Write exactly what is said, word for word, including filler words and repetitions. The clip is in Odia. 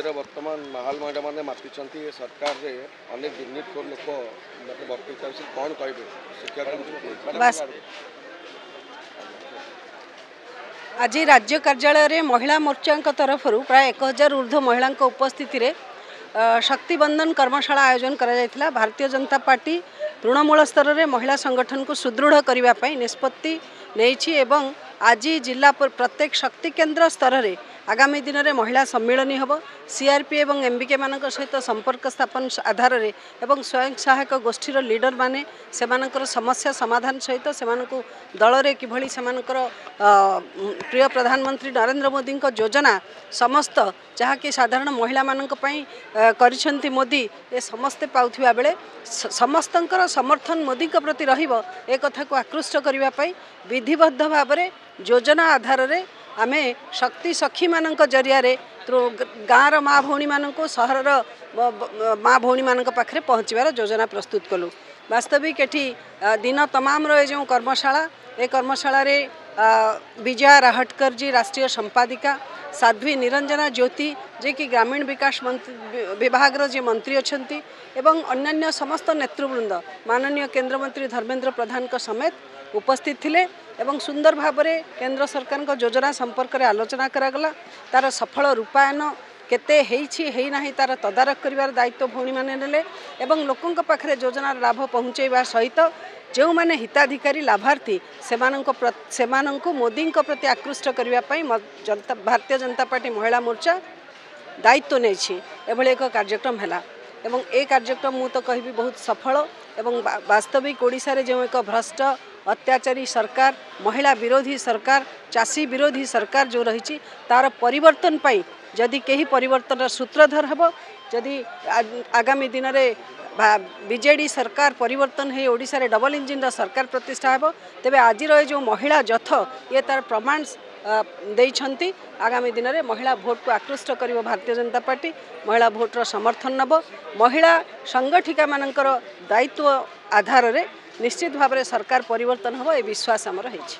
ରାଜ୍ୟରେ ବର୍ତ୍ତମାନ ମାହାଲ ମହିଳାମାନେ ମାତିଛନ୍ତି। ଏ ସରକାରରେ ଅନେକ ଦୁର୍ନୀତିଖୋର ଲୋକ ମାନେ ଭର୍ତ୍ତି ଚାଲିଛି, କ'ଣ କହିବେ ଶିକ୍ଷା? ବାସ୍, ଆଜି ରାଜ୍ୟ କାର୍ଯ୍ୟାଳୟରେ ମହିଳା ମୋର୍ଚ୍ଚାଙ୍କ ତରଫରୁ ପ୍ରାୟ ଏକ ହଜାର ଉର୍ଦ୍ଧ୍ୱ ମହିଳାଙ୍କ ଉପସ୍ଥିତିରେ ଶକ୍ତି ବନ୍ଦନ କର୍ମଶାଳା ଆୟୋଜନ କରାଯାଇଥିଲା। ଭାରତୀୟ ଜନତା ପାର୍ଟି ତୃଣମୂଳ ସ୍ତରରେ ମହିଳା ସଂଗଠନକୁ ସୁଦୃଢ଼ କରିବା ପାଇଁ ନିଷ୍ପତ୍ତି ନେଇଛି ଏବଂ ଆଜି ଜିଲ୍ଲା ପ୍ରତ୍ୟେକ ଶକ୍ତି କେନ୍ଦ୍ର ସ୍ତରରେ ଆଗାମୀ ଦିନରେ ମହିଳା ସମ୍ମିଳନୀ ହେବ। ସିଆର୍ପି ଏବଂ ଏମ୍ବିକେ ମାନଙ୍କ ସହିତ ସମ୍ପର୍କ ସ୍ଥାପନ ଆଧାରରେ ଏବଂ ସ୍ୱୟଂ ସହାୟକ ଗୋଷ୍ଠୀର ଲିଡରମାନେ ସେମାନଙ୍କର ସମସ୍ୟା ସମାଧାନ ସହିତ ସେମାନଙ୍କୁ ଦଳରେ କିଭଳି ସେମାନଙ୍କର ପ୍ରିୟ ପ୍ରଧାନମନ୍ତ୍ରୀ ନରେନ୍ଦ୍ର ମୋଦିଙ୍କ ଯୋଜନା ସମସ୍ତ ଯାହାକି ସାଧାରଣ ମହିଳାମାନଙ୍କ ପାଇଁ କରିଛନ୍ତି ମୋଦି, ଏ ସମସ୍ତେ ପାଉଥିବା ବେଳେ ସମସ୍ତଙ୍କର ସମର୍ଥନ ମୋଦିଙ୍କ ପ୍ରତି ରହିବ, ଏ କଥାକୁ ଆକୃଷ୍ଟ କରିବା ପାଇଁ ବିଧିବଦ୍ଧ ଭାବରେ ଯୋଜନା ଆଧାରରେ ଆମେ ଶକ୍ତି ସଖୀମାନଙ୍କ ଜରିଆରେ ଗାଁର ମା ଭଉଣୀମାନଙ୍କୁ, ସହରର ମା ଭଉଣୀମାନଙ୍କ ପାଖରେ ପହଞ୍ଚିବାର ଯୋଜନା ପ୍ରସ୍ତୁତ କଲୁ। ବାସ୍ତବିକ ଏଠି ଦିନ ତମାମର ଏ ଯେଉଁ କର୍ମଶାଳା, ଏ କର୍ମଶାଳାରେ ବିଜୟା ରାହଟକର ଜୀ ରାଷ୍ଟ୍ରୀୟ ସମ୍ପାଦିକା, ସାଧ୍ୱୀ ନିରଞ୍ଜନା ଜ୍ୟୋତି ଯିଏକି ଗ୍ରାମୀଣ ବିକାଶ ମନ୍ତ୍ରୀ ବିଭାଗର ଯିଏ ମନ୍ତ୍ରୀ ଅଛନ୍ତି ଏବଂ ଅନ୍ୟାନ୍ୟ ସମସ୍ତ ନେତୃବୃନ୍ଦ ମାନନୀୟ କେନ୍ଦ୍ରମନ୍ତ୍ରୀ ଧର୍ମେନ୍ଦ୍ର ପ୍ରଧାନଙ୍କ ସମେତ ଉପସ୍ଥିତ ଥିଲେ ଏବଂ ସୁନ୍ଦର ଭାବରେ କେନ୍ଦ୍ର ସରକାରଙ୍କ ଯୋଜନା ସମ୍ପର୍କରେ ଆଲୋଚନା କରାଗଲା। ତାର ସଫଳ ରୂପାୟନ କେତେ ହେଇଛି ହେଇନାହିଁ ତାର ତଦାରଖ କରିବାର ଦାୟିତ୍ୱ ଭଉଣୀମାନେ ନେଲେ ଏବଂ ଲୋକଙ୍କ ପାଖରେ ଯୋଜନାର ଲାଭ ପହଞ୍ଚାଇବା ସହିତ ଯେଉଁମାନେ ହିତାଧିକାରୀ ଲାଭାର୍ଥୀ ସେମାନଙ୍କ ସେମାନଙ୍କୁ ମୋଦିଙ୍କ ପ୍ରତି ଆକୃଷ୍ଟ କରିବା ପାଇଁ ଜନତା ଭାରତୀୟ ଜନତା ପାର୍ଟି ମହିଳା ମୋର୍ଚ୍ଚା ଦାୟିତ୍ୱ ନେଇଛି। ଏଭଳି ଏକ କାର୍ଯ୍ୟକ୍ରମ ହେଲା ଏବଂ ଏ କାର୍ଯ୍ୟକ୍ରମ ମୁଁ ତ କହିବି ବହୁତ ସଫଳ ଏବଂ ବାସ୍ତବିକ ଓଡ଼ିଶାରେ ଯେଉଁ ଏକ ଭ୍ରଷ୍ଟ ଅତ୍ୟାଚାରୀ ସରକାର, ମହିଳା ବିରୋଧୀ ସରକାର, ଚାଷୀ ବିରୋଧୀ ସରକାର ଯେଉଁ ରହିଛି, ତାର ପରିବର୍ତ୍ତନ ପାଇଁ ଯଦି କେହି ପରିବର୍ତ୍ତନର ସୂତ୍ରଧର ହେବ, ଯଦି ଆଗାମୀ ଦିନରେ ବିଜେଡ଼ି ସରକାର ପରିବର୍ତ୍ତନ ହେଇ ଓଡ଼ିଶାରେ ଡବଲ ଇଞ୍ଜିନ୍ର ସରକାର ପ୍ରତିଷ୍ଠା ହେବ, ତେବେ ଆଜିର ଏ ଯେଉଁ ମହିଳା ଯଥ ଇଏ ତାର ପ୍ରମାଣ ଦେଇଛନ୍ତି। ଆଗାମୀ ଦିନରେ ମହିଳା ଭୋଟକୁ ଆକୃଷ୍ଟ କରିବ ଭାରତୀୟ ଜନତା ପାର୍ଟି, ମହିଳା ଭୋଟର ସମର୍ଥନ ନେବ। ମହିଳା ସଂଗଠିକାମାନଙ୍କର ଦାୟିତ୍ୱ ଆଧାରରେ ନିଶ୍ଚିତ ଭାବରେ ସରକାର ପରିବର୍ତ୍ତନ ହେବ, ଏ ବିଶ୍ୱାସ ଆମର ହେଇଛି।